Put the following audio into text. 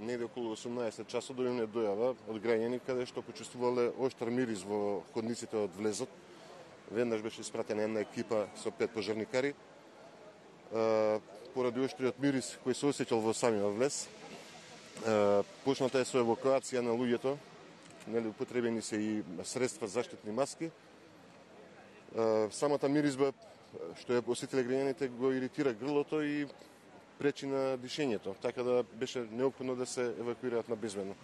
негде околу 18 часот дојде дојава од граѓани каде што почувствувале оштар мирис во ходниците од влезот. Веднаш беше испратена една екипа со 5 пожарникари. Поради оштриот мирис кој се осеќал во самиот влез, почната е со евакуација на луѓето, нели употребени се и средства заштитни маски. Самата миризба што ја осетиле граѓаните го иритира грлото и пречи на дишењето, така да беше неопходно да се евакуираат на безбедно.